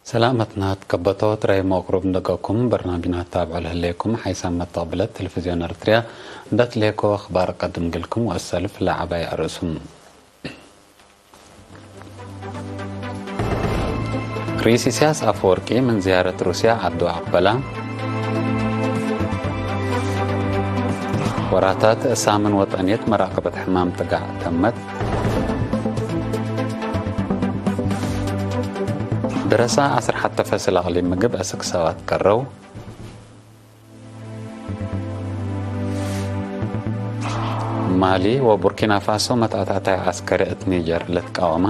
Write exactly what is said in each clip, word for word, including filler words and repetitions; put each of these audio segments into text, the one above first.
ሰላመትና ትከበቶ ትረይሞ እክሩብ እንደገኩም በርናምጅና ትታብዖ ለህሌኩም ሓይሳም መተቅብለት ቴሌቪዝዮን ኤረትርያ እንደ ትሌኮ አኽባር ቀድም ግልኩም ወእሰልፍ ለዐባይ አርእሱም። ርኢስ ኢሳያስ አፈወርቂ ምን ዝያረት ሩስያ ዐዱ አቅበላ። ወራታት ሳምን ወጠንየት መራቀበት ሕማም ጥጋዕ ተመት። ደረሳ ዐስር ሐተ ፈስል አቅሊም ምግብ አስክ ሰባት ቀረው። ማሊ ወቡርኪና ፋሶ መትአታታይ ዐስከሪ እት ኒጀር ልትቃወማ።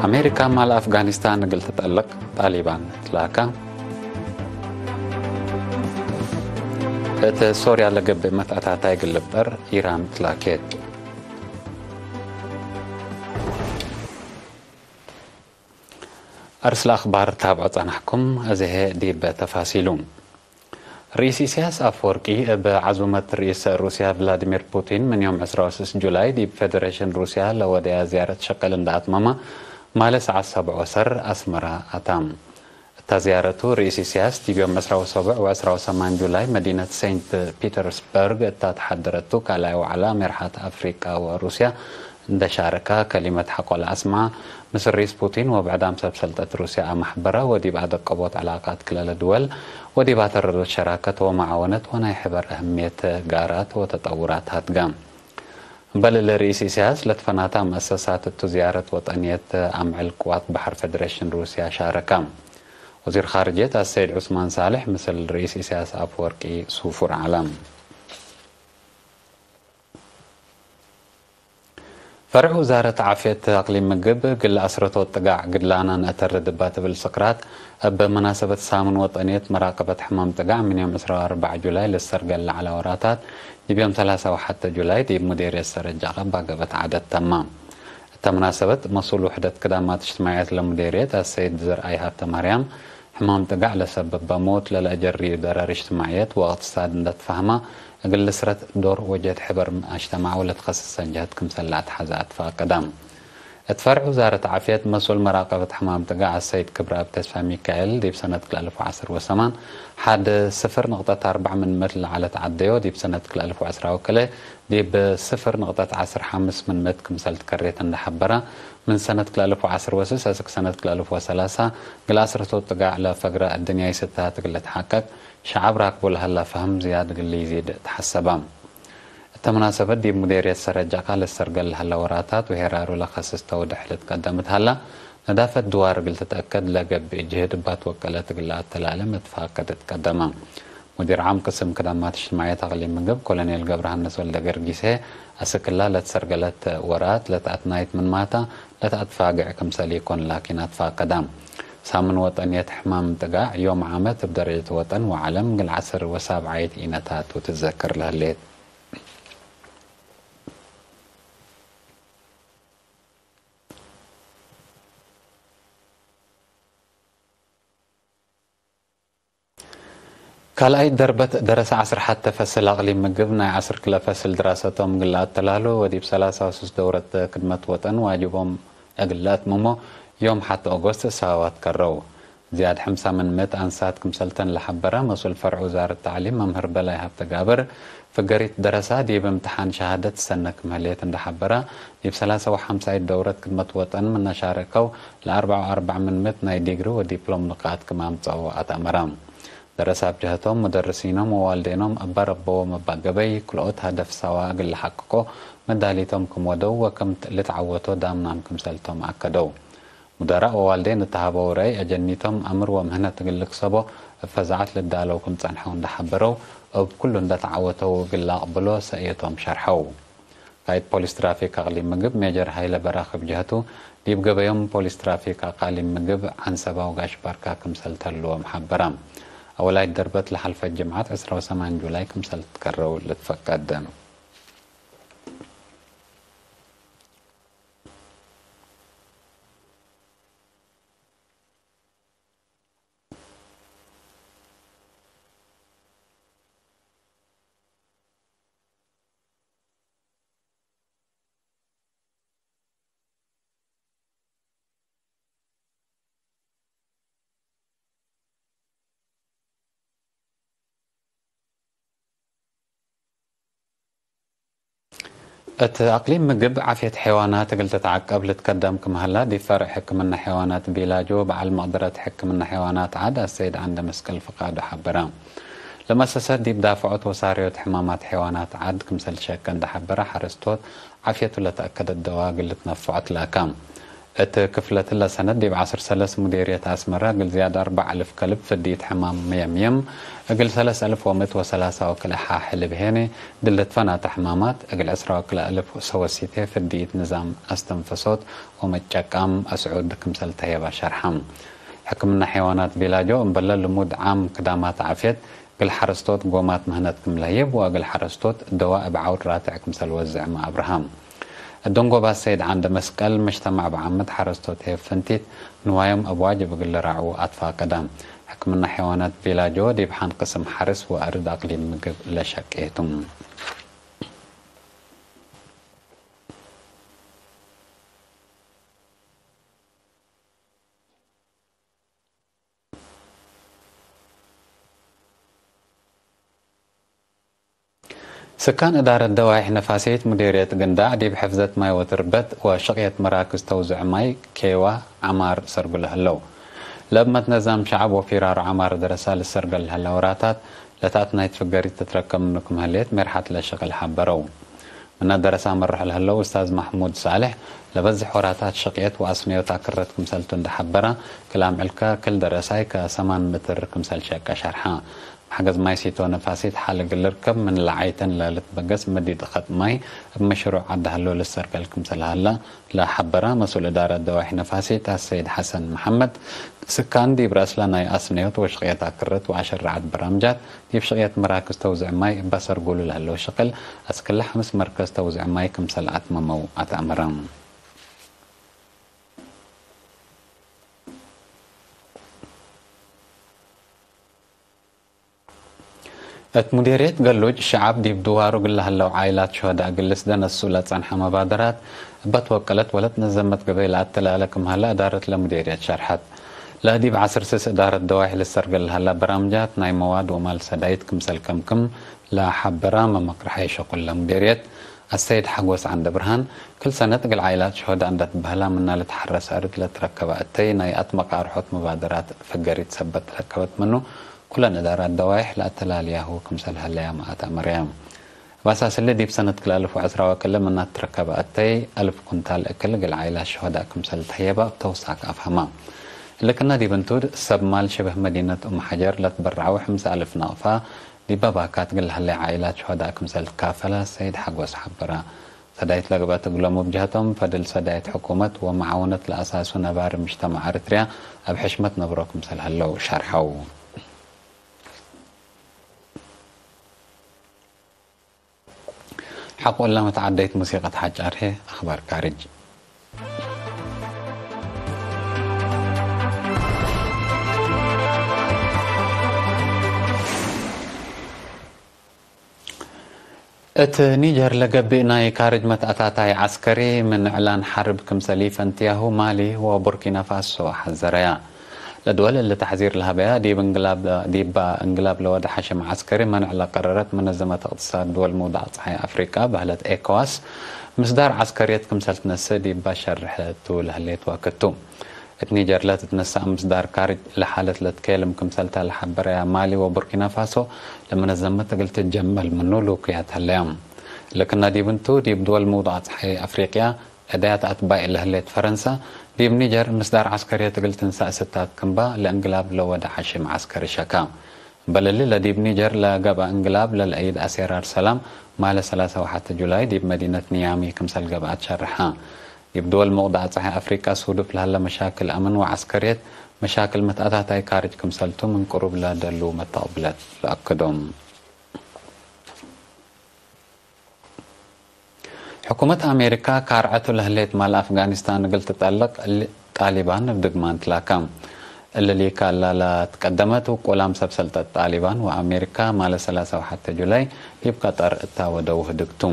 አሜሪካ ማል አፍጋኒስታን እግል ትጠልቅ ጣሊባን ትላካ። እት ሶርያ ለገብእ መትአታታይ እግል ልብጠር ኢራን ትላኬት። አርስለ አኽባር ታብዖ ጸናሕኩም፣ አዜ ህዬ ዲብ ተፋሲሉ። ርኢስ ኢሳያስ አፈወርቂ እብ ዐዙመት ርኢስ ሩስያ ቭላዲሚር ፑቲን ምን ዮም ዕስራ ወስስ ጁላይ ዲብ ፌደሬሽን ሩስያ ለወደያ ዝያረት ሸቅል እንደ አትመመ፣ ማለ ሰዓት ሰብዕ ወሰር አስመራ አታ። እታ ዝያረቱ፣ ርኢስ ኢሳያስ ዲብ ዮም ዕስራ ወሰቡዕ ወዕስራ ወሰማን ጁላይ መዲነት ሴንት ፒተርስበርግ እታ ተሓደረቱ ካልኣይ ወዕላ ሜርሓት አፍሪቃ ወሩስያ እንደ ሻረካ፣ ከሊመት ሐቆ ለአስምዐ፣ ምስል ርኢስ ፑቲን ወብዕዳም ሰብ ሰልጠት ሩስያ አመሕበረ ወዲብ አደቀቦት ዕላቃት ክለለ ድወል ወዲብ አተረዶት ሸራከት ወመዓወነት ወናይ ሕበር አህምየት ጋራት ወተጠውራት ሀትገ። እምበል እሊ ርኢስ ኢሳያስ ለትፈናታ መአሰሳት እቱ ዝያረት ወጠንየት አምዕል ቅዋት በሐር ፌደሬሽን ሩስያ ሻረካ። ወዚር ኻርጅየት አሰይድ ዑስማን ሳልሕ ምስል ርኢስ ኢሳያስ አፈወርቂ ሱፉር ዐለ። ፈርዕ ውዛረት ዓፍየት አቅሊም ምግብ፣ እግል አስረቶት ጥጋዕ ግድላና ነአተርድ እባ ትብል ስቅራት፣ እብ መናሰበት ሳምን ወጠንየት መራቀበት ሕማም ጥጋዕ ምን ዮም ዕስራ ወአርበዕ ጁላይ ልሰርገል ለዐለ ወራታት፣ ዲብ ዮም ሰላሳ ወሐተ ጁላይ ዲብ ሙዴርየት ሰረጃ ቀባ ገበት ዐደት ተማ። እተ መናሰበት፣ መሱል ውሕደት ክዳማት እጅትማዕየት ለሙዴርየት አሰይድ ዘርአይ ሀብተማርያም፣ ሕማም ጥጋዕ ለሰብበ ሞት ለለአጀርዩ ደረር እጅትማዕየት ወእቅትሳድ እንደ ትፋህማ፣ እግል ልስረት ዶር ወጀህት ሕበር አጅተማዕ ወለትከስሰን ጀህት ክምሰል ለአትሐዘ አትፋቀደ። እት ፈርዕ ውዛረት ዓፍየት፣ መሱል መራቀበት ሕማም ጥጋዕ አሰይድ ክብረአብ ተስፋሚካኤል፣ ዲብ ሰነት ክልኤ አልፍ ወዐስር ወሰማን፣ ሐድ ስፍር ንቅጠት አርበዕ ምን ምእት ለዐለት ዐደዮ፣ ዲብ ሰነት ክልኤ አልፍ ወዐስራ ወክልኤ፣ ዲብ ስፍር ንቅጠት ዐስር ሐምስ ምን ምእት ክምሰል ትከሬት እንደ ሐበረ፣ ምን ሰነት ክልኤ አልፍ ወዐስር ወስስ አስክ ሰነት ክልኤ አልፍ ወሰላሳ፣ እግል አስረቶት ጥጋዕ ለፈግረ አድንያይ ስተት እግል ልትሐቀቅ፣ ሸዐብ ራክቡ ለሀላ ፈህም ዝያድ እግል ኢዚድ ተሐሰበ። እተ መናሰበት ዲብ ሙዴርየት ሰረጃካ ልሰርገል ለሀለ ወራታት ወሄራሩ ለከስስ ተውደሕ ልትቀደም እት ሀላ፣ ነዳፈት ድዋር እግል ትትአከድ ለገብእ ጅህድ እባ ትወቀለት እግል ለአተላሌ መትፋቀድ ትቀደመ። ሙዲር ዓም ቅስም ክዳማት እጅትማዕየት አቅሊም ምግብ ኮሎኔል ገብረሃንስ ወልደገርጊስ ህዬ፣ አስክላ ለትሰርገለት ወራት ለተአትናይት ምንማታ ለተአትፋግዕ ክምሰል ኢኮን ላኪን አትፋቀዳ። ሳምን ወጠንየት ሕማም ጥጋዕ ዮም ዓመት እብ ደረጀት ወጠን ወዐለም እግል ዐስር ወሳብዓይት ኢነታቱ ትዘከር ለህሌት። ካልኣይት ደርበት ደረሰ ዐስር ሐተ ፈስል አቅሊም ምግብ ናይ ዐስር ክለ ፈስል ድራሰቶም እግል ለአተላሉ ወዲብ ሰላሳ ወስስ ደውረት ክድመት ወጠን ዋጅቦም እግል ለአትምሞ ዮም ሐተ ኦጎስት ሳዋት ከረው። ዝያድ ሕምሳ ምን ምእት አንሳት ክምሰልተን ለሐበረ መስኡል ፈርዕ ውዛረት ተዕሊም መምህር በላይ ሀብተ ጋብር፣ ፍገሪት ደረሳ ዲብ እምትሓን ሸሃደት ትሰነ ክም ህሌት እንደ ሐበረ፣ ዲብ ሰላሳ ወሐምሳይት ደውረት ክድመት ወጠን ምነ ሻረከው ለአርበዕ ወአርበዕ ምን ምእት ናይ ዲግሪ ወዲፕሎም ንቃጥ ክም አምጸኦ አትአመረ። ደረሳ እብ ጀሀቶም፣ ሙደርሲኖም ወዋልዴኖም እበ ረበዎም እበ ገበይ ክልኦት ሀደፍ ሳዋ እግል ለሐቅቆ መዳሊቶም ክም ወደው ወክም ልትዐወቶ ዳምናም ክምሰልቶም አከደው። ሙደራእ ወዋልዴን እት ሀበው ረአይ፣ አጀኒቶም አምር ወምህነት እግል ልክሰቦ እብ ፈዛዐት ልዳለው ክም ጸንሐው እንደ ሐበረው፣ እብ ኩሉ እንደ ተዐወተው እግል ለአቅብሎ ሰእየቶም ሸርሐው። ቃእድ ፖሊስ ትራፊክ አቅሊም ምግብ ሜጀር ሀይለ በራክ እብ ጀህቱ፣ ዲብ ገበዮም ፖሊስ ትራፊክ አቃሊም ምግብ ዐንሰባ ወጋሽ ባርካ ክምሰል ተልዎም ሐበረ። አወላይት ደርበት ለሐልፈ ጅምዐት ዕስራ ወሰማን ጁላይ ክምሰል ትትከረው ልትፈቀድ። እት አቅሊም ምግብ ዓፍየት ሐይዋናት እግል ትትዐቀብ ልትከደም ክም ሀላ፣ ዲብ ፈርዕ ሕክምና ሐይዋናት ቢላጆ በዐል መቅደረት ሕክምና ሐይዋናት ዐድ አሰይድ ዐንደ መስቀል ፍቃዱ ሐበረ። ለመሰሰት ዲብ ዳፍዖት ወሳርዮት ሕማማት ሐይዋናት ዐድ ክምሰል ሸቀ እንደ ሐበረ፣ ሐረስቶት ዓፍየቱ ለተአከደት ደዋ እግል ልትነፈዖ ትላከ። እት ክፍለትለ ሰነት ዲብ ዐስር ሰለስ ሙዴርየት አስመረ እግል ዝያድ አርበዕ አልፍ ከልብ ፍድይት ሕማም መየምየም፣ እግል ሰለስ አልፍ ወምእት ወሰላሳ ወክልኤ ሐ ሕልብ ሄኔ ድል ልትፈናተ ሕማማት፣ እግል ዕስራ ወክልኤ አልፍ ሰወሲቴ ፍድይት ንዛም አስተንፈሶት ወመጨቃም አስዑድ ክምሰል ተህየባ ሸርሐ። ሕክምና ሐይዋናት ቢላጆ እምበለ ልሙድ ዓም ክዳማት ዓፍየት፣ እግል ሐረስቶት ጎማት ምህነት ክም ለህይብ ወእግል ሐረስቶት ደዋ እብ ዐውድ ራትዕ ክምሰል ወዝዕመ አብርሃም። እብ ደንጎባ ሰይድ ዐንደ መስቀል፣ መጅተማዕ በዓምት ሐረስቶት ሄብ ፍንቲት ንዋዮም እብ ዋጅብ እግል ልራዕዉ አትፋቀደ። ሕክምና ሐይዋናት ቪላጆ ዲብ ሐን ቅስም ሐርስ ወአርድ አቅሊም ምግብ ለሸቄ ቱ። ስካን እዳረት ደዋይሕ ነፋሲት ሙዴርየት ግንዳዕ ዲብ ሕፍዘት ማይ ወትርበት ወሸቅየት መራክዝ ተውዝዕ ማይ ኬዋ ዐማር ሰርጉ ለህለው። ለእብ መትነዛም ሸዐብ ወፊራሮ ዐማር ደረሳ ልሰርገል ለህለ ወራታት ለተአትናይት ፍገሪት ትትረከብ ምኑ ክም ህሌት ሜርሐት ለሸቅል ሐበረው። ምነ ደረሳ መርሕ ለህለው ኡስታዝ ማሕሙድ ሳልሕ፣ ለበዝሕ ወራታት ሸቅየት ወአስነዮት አክረት ክምሰልቱ እንደ ሐበረ፣ ክል አምዕልከ ክል ደረሳይ ከሰማን ምትር ክምሰል ሸቀ ሸርሐ። መሕገዝ ማይ ሲቶ ነፋሲት ሐል እግል ልርከብ ምን ለዓይተን ለልትበገስ መዲድ እከት ማይ እብ መሽሩዕ ዐድ ሀሎ ልሰርገል ክምሰል ሀለ ለሐበረ መስኡል እዳረት ደዋይሕ ነፋሲት አሰይድ ሐሰን መሐመድ፣ ስካን ዲብ ረአስለ ናይ አስነዮት ወሽቅየት አክረት ወአሸረዐት በራምጃት፣ ዲብ ሽቅየት መራክዝ ተውዝዕ ማይ እበ ሰርጉሉ ለህለው ሽቅል፣ አስክለ ሐምስ መርከዝ ተውዝዕ ማይ ክምሰል አትመመው አትአመረ። እት ሙዴርየት ገሉጅ ሸዐብ ዲብ ድዋሩ እግል ለሀለው ዓኢላት ሹሀዳእ እግል ልስደነሱ ለጸንሐ መባደራት እበ ትወቀለት ወለትነዘመት ገበይ ለአተላለ ክም ሀለ እዳረት ለሙዴርየት ሸርሐት። ለዲብ ዐስር ስስ እዳረት ደዋይሕ ልሰርገል ለሀላ በራምጃት ናይ መዋድ ወማል ሰዳይት ክምሰል ከምክም ለሐበራ መመቅርሐይ ሸቁል ለሙዴርየት አሰይድ ሐጎስ ዐንደ ብርሃን፣ ክል ሰነት እግል ዓኢላት ሹሀዳእ እንደ ትበህላ ምና ልትሐረስ አርድ ለትረከበ እተይ ናይ አትመቃርሖት መባደራት ፍገሪት ሰበት ትረከበት ምኑ፣ ኩለን እዳራት ደዋይሕ ለአተላልያሁ ክምሰል ሀለያመ አትአመረየ። እብ አሳስ እሊ፣ ዲብ ሰነት ክልኤ አልፍ ወዐስራ ወክልኤ ምና ትረከበ እተይ አልፍ ኩንታል እክል እግል ዓኢላት ሹሀዳእ ክምሰል ተህየበ እብ ተውሳክ አፍሀመ። እሊ ክና ዲብ እንቱ፣ ሰብ ማል ሽብህ መዲነት ኡም ሐጀር ለትበረዐው ሐምሳ አልፍ ናቅፋ፣ ዲበ ባካት እግል ለሀሌ ዓኢላት ሹሀዳእ ክምሰል ትካፈለ ሰይድ ሐጎስ ሐበረ። ሰዳይት ለገብአት እግሎም እብ ጀሀቶም፣ ፈድል ሰዳይት ሕኩመት ወመዓውነት ለአሳሱ ነባሪ ምጅተማዕ ኤረትርያ እብ ሕሽመት ነብሮ ክምሰል ሀለው ሸርሐው። ሐቆ እለ መትዓደይት ሙሲቀት ሐጫር ህዬ፣ አኽባር ካርጅ። እት ኒጀር ለገብእ ናይ ካርጅ መትአታታይ ዐስከሪ ምን እዕላን ሐርብ ክምሰል ኢፈንትያሁ ማሊ ወቡርኪናፋሶ ሐዘረያ። ለድወል እሊ ተሕዚር ለሀበያ ዲብ እንግላብ፣ ዲባ እንግላብ ለወደ ሐሽም ዐስከሪ መንዕ ለቀረረት መነዘመት እቅትሳድ ድወል ምውዳቅ ጸሓይ አፍሪቃ በህለት ኤኮዋስ፣ ምስዳር ዐስከርየት ክምሰል ትነስእ ዲባ ሸርሕ ቱ ለህሌት ወክድ ቱ። እት ኒጀር ለትትነሰእ ምስዳር ካርጅ ለሓለት ለትኬልም ክምሰልተ ለሐበረያ ማሊ ወቡርኪናፋሶ፣ ለመነዘመት እግል ትጀመል ምኑ ልውክያት ሀለያም። ለክና ዲብ እንቱ፣ ዲብ ድወል ምውዳቅ ጸሓይ አፍሪቅያ፣ ዕዳያት አትባይ ለህሌት ፈረንሰ፣ ዲብ ኒጀር ምስዳር ዐስከርየት እግል ትንሳእ ስታት ክምባ ለእንግላብ ለወደ ሐሽም ዐስከሪ ሸካ። እምበል እሊ፣ ለዲብ ኒጀር ለገብአ እንግላብ ለልአይድ አሴራር ሰላም፣ ማለ ሰላሳ ወሐተ ጁላይ ዲብ መዲነት ኒያሚ ክምሰል ገብአት ሸርሐ። ዲብ ድወል ምውዳቅ ጸሓይ አፍሪቃ ሱዱፍ ለሀለ መሻክል አምን ወዐስከርየት፣ መሻክል መትአታታይ ካርጅ ክምሰልቱ ምን ቅሩብ ለደሉ መተቅብለት ለአክዶም። ሕኩመት አሜሪካ፣ ካርዐቱ ለህሌት ማል አፍጋኒስታን እግል ትጠልቅ ጣሊባን እብ ድግማን ትላከ። እሊ ሊካላ ለትቀደመት ውቁላም ሰብ ሰልጠት ጣሊባን ወአሜሪካ፣ ማለ ሰላሳ ወሐተ ጁላይ ዲብ ቀጠር እታ ወደው ህድግ ቱ።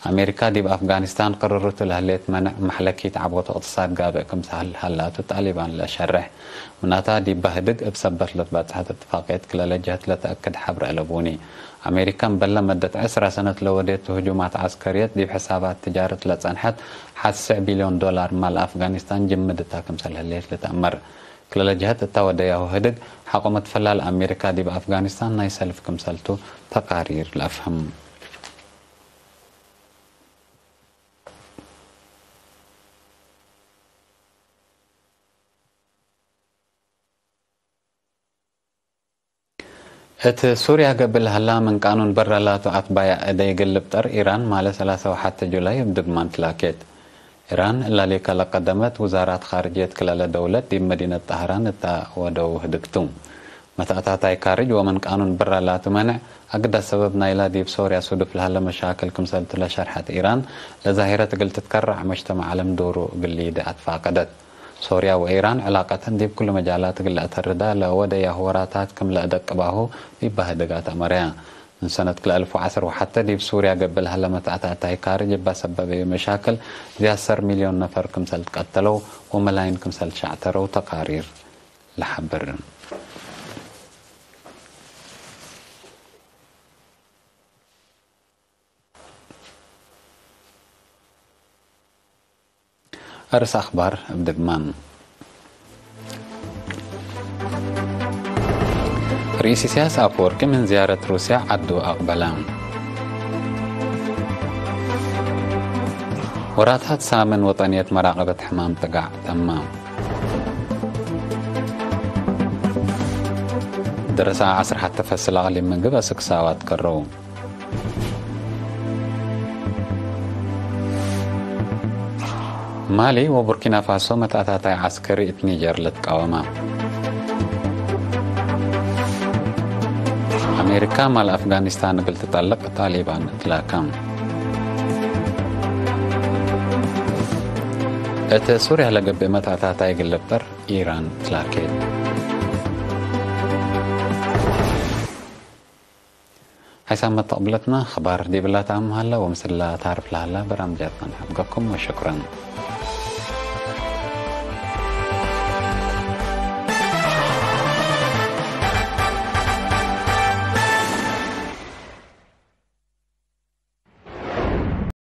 አሜሪካ ዲብ አፍጋኒስታን ቅርርቱ ለህሌት መነዕ መሕለኪት ዐቦት እቅትሳድ ጋብእ ክምሰል ሀላቱ ጣሊባን ለሸርሕ። ምናታ ዲብ በህድግ እብ ሰበት ለትበጽሐት እትፋቅየት ክለለ ጀህት ለተአክድ ሐብር አለቡኒ። አሜሪካ እምበለ መደት ዕስራ ሰነት ለወዴት ህጁማት ዐስከርየት ዲብ ሕሳባት ትጃረት ለጸንሐት ሐስዕ ቢልዮን ዶላር ማል አፍጋኒስታን ጅምድ እታ ክምሰል ህሌት ልትአመር። ክለለ ጀህት እታ ወደያሁ ህድግ ሐቆ መትፈላል አሜሪካ ዲብ አፍጋኒስታን ናይ ሰልፍ ክምሰልቱ ተቃሪር ለአፍህም። እት ሱርያ ገብእ ለሀላ ምን ቃኑን በረ ላቱ አትባያ እደይ እግል ልብጠር ኢራን ማለ ሰላሳ ወሐተ ጁላይ እብ ድግማን ትላኬት። ኢራን እላሊከ ለቀደመት ውዛራት ካርጅየት ክለለ ደውለት ዲብ መዲነት ጠህራን እተ ወደው ህድግቱ። መትአታታይ ካርጅ ወምን ቃኑን በረ ላቱ መነዕ አግደ ሰበብ ናይላ ዲብ ሶርያ ሱዱፍ ለሀለ መሻክል ክምሰልቱ ለሸርሐት ኢራን፣ ለዛሂረት እግል ትትከረዕ መጅተመዕ ዐለም ዶሩ እግል ሊዴ አትፋቀደት። ሶርያ ወኢራን ዕላቀተን ዲብ ኩሉ መጃላት እግል ለአተርዳ ለወደያሁ ወራታት ክም ለአደቅባሁ ዲብ በህድግ አትአመረያ። ምን ሰነት ክልኤ አልፍ ወዐስር ወሐተ ዲብ ሱርያ ገብእ ለሀለ መትአታታይ ካርጅ እባ ሰበበዩ መሻክል ዚያድ ሰር ሚልዮን ነፈር ክምሰል ትቀተለው ወመላይን ክምሰል ትሸዕተረው ተቃሪር ለሐብር። አርስ አኽባር እብ ድግማን። ርኢስ ኢሳያስ አፈወርቂ ምን ዝያረት ሩስያ ዐዱ አቅበለ። ወራታት ሳምን ወጠንየት መራቀበት ሕማም ጥጋዕ ተመ። ደረሳ ዐስር ሐተ ፈስል አቅሊም ምግብ አስክ ሳዋት ከረው። ማሊ ወቡርኪና ፋሶ መትአታታይ ዐስከሪ እት ኒጀር ልትቃወማ። አሜሪካ ማል አፍጋኒስታን እግል ትጠልቅ ጣሊባን ትላከ። እት ሱርያ ለገብእ መትአታታይ እግል ልብጠር ኢራን ትላኬት። ሐይሳም መተቅብለትና አኽባር ዲብላ ተአም ሀለ ወምስላ ታርፍ ለሀላ በራምጃት መንሐብገኩም ወሸክረን።